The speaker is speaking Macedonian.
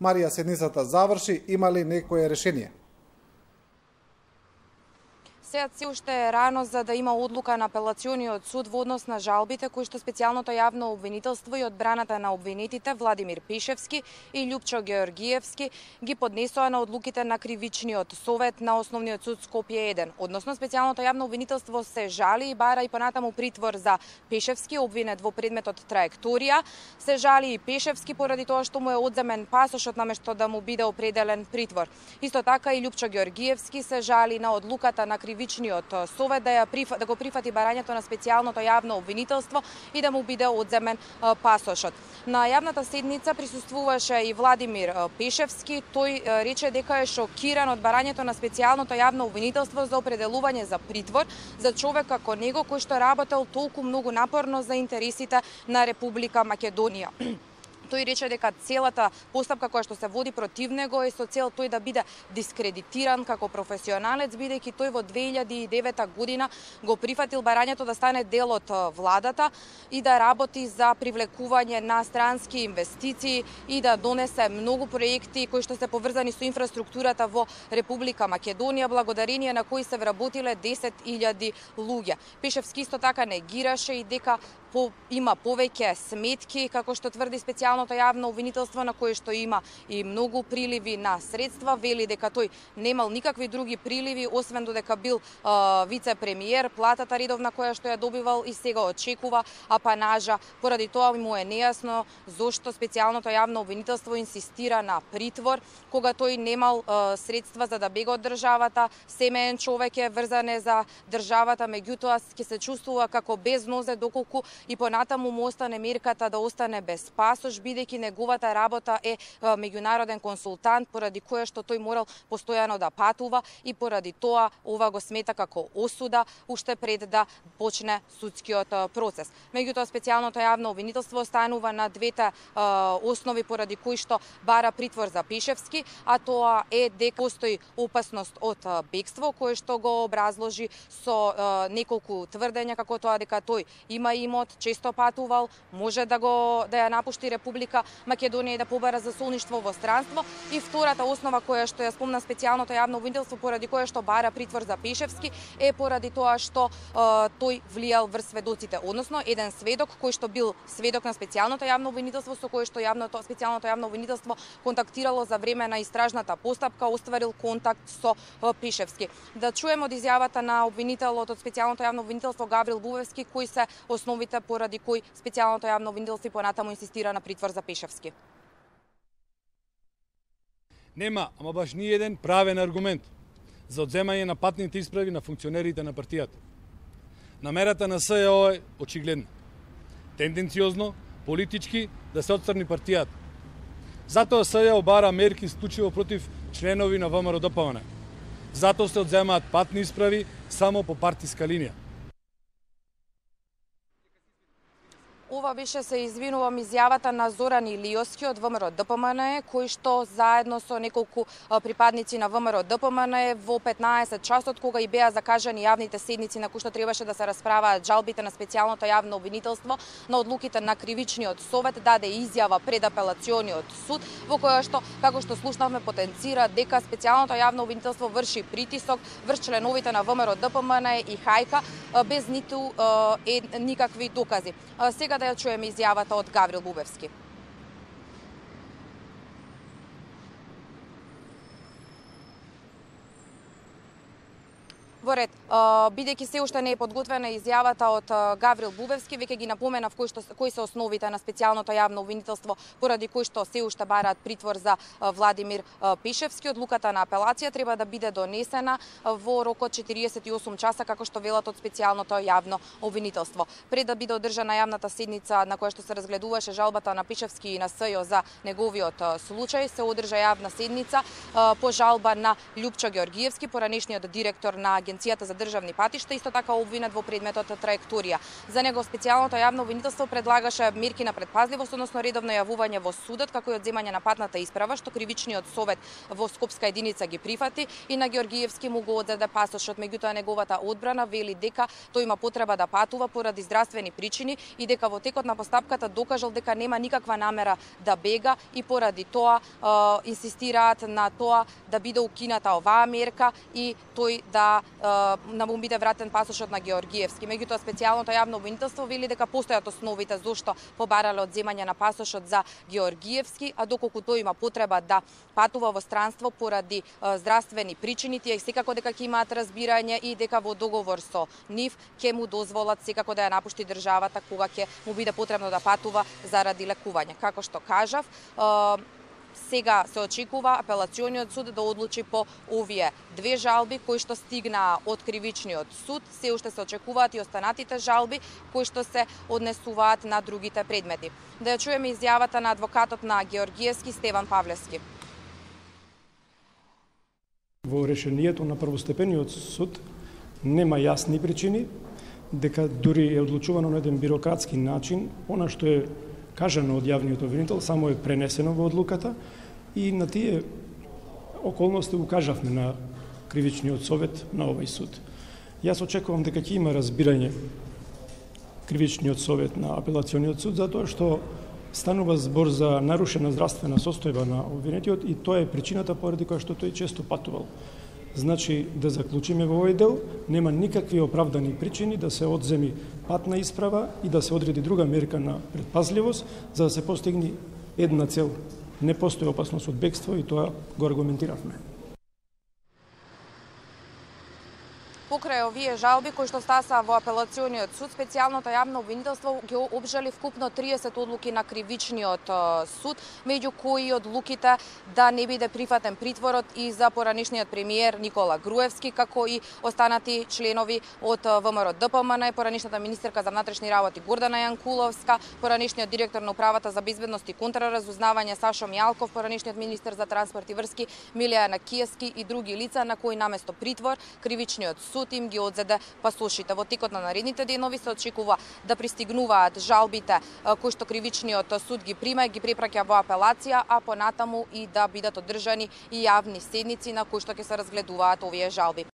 Марија, седницата заврши, има ли некое решение? Сега се уште е рано за да има одлука на апелациониот суд во однос на жалбите кои што специјалното јавно обвинителство и одбраната на обвинетите Владимир Пешевски и Љупчо Георгиевски ги поднесоа на одлуките на кривичниот совет на Основниот суд Скопје 1. Односно специјалното јавно обвинителство се жали и бара и понатаму притвор за Пешевски, обвинет во предметот траекторија. Се жали и Пешевски поради тоа што му е одземен пасошот наместо да му биде определен притвор. Исто така и Љупчо Георгиевски се жали на одлуката на кривичниот совет да го прифати барањето на специјалното јавно обвинителство и да му биде одземен пасошот. На јавната седница присуствуваше и Владимир Пешевски. Тој рече дека е шокиран од барањето на специјалното јавно обвинителство за определување за притвор за човек како него кој што работел толку многу напорно за интересите на Република Македонија. Тој рече дека целата постапка која што се води против него е со цел тој да биде дискредитиран како професионалец, бидејќи тој во 2009 година го прифатил барањето да стане дел од владата и да работи за привлекување на странски инвестиции и да донесе многу проекти кои што се поврзани со инфраструктурата во Република Македонија, благодарение на кои се вработиле 10.000 луѓе. Пешевски исто така негираше и дека има повеќе сметки, како што тврди специјалното јавно обвинителство, на кое што има и многу приливи на средства. Вели дека тој немал никакви други приливи, освен додека бил вице-премиер, платата редовна која што ја добивал и сега очекува апанажа. Поради тоа му е нејасно зошто специјалното јавно обвинителство инсистира на притвор, кога тој немал средства за да бега од државата, семеен човек е, врзан е за државата, меѓутоа ќе се чувствува како без нозе доколку и понатаму му остане мерката да остане без пасош, бидејќи неговата работа е меѓународен консултант, поради која што тој морал постојано да патува и поради тоа ова го смета како осуда уште пред да почне судскиот процес. Меѓутоа специјалното јавно обвинителство останува на двете основи поради кои што бара притвор за Пешевски, а тоа е дека постои опасност од бегство, кое што го образложи со неколку тврдења, како тоа дека тој има имот, често патувал, може да ја напушти Република Македонија и да побара засолништво во странство. И втората основа која што ја спомна специјалното јавно обвинителство поради која што бара притвор за Пешевски е поради тоа што тој влијал врз сведоците, односно еден сведок кој што бил сведок на специјалното јавно обвинителство со кој што специјалното јавно обвинителство контактирало за време на истражната постапка, остварил контакт со Пешевски. Да чуеме од изјавата на обвинителот од специјалното јавно обвинителство Гаврил Бувевски кои се основите поради кои специјалното јавно обвинителство понатаму инсистира на притвор за Пешевски. Нема, ама баш ни еден правен аргумент за одземање на патните исправи на функционерите на партијата. Намерата на СЈО е очигледна. Тенденциозно, политички да се отстрани партијата. Затоа СЈО бара мерки исклучиво против членови на ВМРО-ДПМН. Затоа се одземаат патни исправи само по партиска линија. Ова беше, се извинувам, изјавата на Зоран Илиоски од ВМРО-ДПМН, кој што заедно со неколку припадници на ВМРО-ДПМН во 15 часот, кога и беа закажани јавните седници на кои што требаше да се расправаат жалбите на специјалното јавно обвинителство на одлуките на кривичниот совет, даде изјава пред апелациониот суд, во која што, како што слушнавме, потенцира дека специјалното јавно обвинителство врши притисок врз членовите на ВМРО-ДПМН и Хајка без ниту никакви докази. Сега да ја чуеме изјавата од Гаврил Бубевски. Во ред, бидејќи се уште не е подготвена изјавата од Гаврил Бубевски, веќе ги напоменав кои се основите на специјалното јавно обвинителство поради кои што се уште бараат притвор за Владимир Пешевски. Одлуката на апелација треба да биде донесена во рокот 48 часа, како што велат од специјалното јавно обвинителство. Пред да биде одржана јавната седница на која што се разгледуваше жалбата на Пешевски и на СЈО за неговиот случај, се одржа јавна седница по жалба на Љупчо Георгиевски, поранешниот директор на Агенцијата за државни патишта, исто така обвинет во предметот траекторија. За него специјалното јавно обвинителство предлагаше мерки на предпазливост, односно редовно јавување во судот, како и одземање на патната исправа, што кривичниот совет во Скопска единица ги прифати, и на Георгиевски му го одзеде пасошот. Меѓутоа неговата одбрана вели дека тој има потреба да патува поради здравствени причини и дека во текот на постапката докажал дека нема никаква намера да бега и поради тоа инсистираат на тоа да биде укината оваа мерка и тој да му биде вратен пасошот на Георгиевски. Меѓутоа специјалното јавно обвинителство вели дека постојат основите зошто побарале одземање на пасошот за Георгиевски, а доколку тој има потреба да патува во странство поради здравствени причини, тие секако дека ќе имаат разбирање и дека во договор со нив ќе му дозволат секако да ја напушти државата кога ќе му биде потребно да патува заради лекување. Како што кажав, сега се очекува апелациониот суд да одлучи по овие две жалби кои што стигнаа од кривичниот суд. Се уште се очекуваат и останатите жалби кои што се однесуваат на другите предмети. Да ја чуеме изјавата на адвокатот на Георгиевски, Стеван Павлевски. Во решението на првостепениот суд нема јасни причини, дека дури е одлучувано на еден бирократски начин, она што е кажано од јавниот обвинител само е пренесено во одлуката и на тие околности укажавме на кривичниот совет на овој суд. Јас очекувам дека ќе има разбирање кривичниот совет на апелациониот суд затоа што станува збор за нарушена здравствена состојба на обвинетиот и тоа е причината поради која што тој често патувал. Значи, да заклучиме во овој дел, нема никакви оправдани причини да се одземи патна исправа и да се одреди друга мерка на предпазливост за да се постигне една цел. Не постои опасност од бегство и тоа го аргументиравме. Покрај овие жалби кои што стаса во апелациониот суд, специјалното јавно обвинителство ги обжали вкупно 30 одлуки на кривичниот суд, меѓу кои одлуките да не биде прифатен притворот и за поранешниот премиер Никола Груевски, како и останати членови од ВМРО ДПМН, поранешната министерка за внатрешни работи Гордана Јанкуловска, поранешниот директор на управата за безбедност и контраразузнавање Сашо Мијалков, поранешниот министер за транспорт и врски Милија Накиевски и други лица на кои наместо притвор кривичниот суд им ги одзеде пасошите. Во текот на наредните денови се очекува да пристигнуваат жалбите кои што кривичниот суд ги прима и ги препраќа во апелација, а понатаму и да бидат одржани и јавни седници на кои што ќе се разгледуваат овие жалби.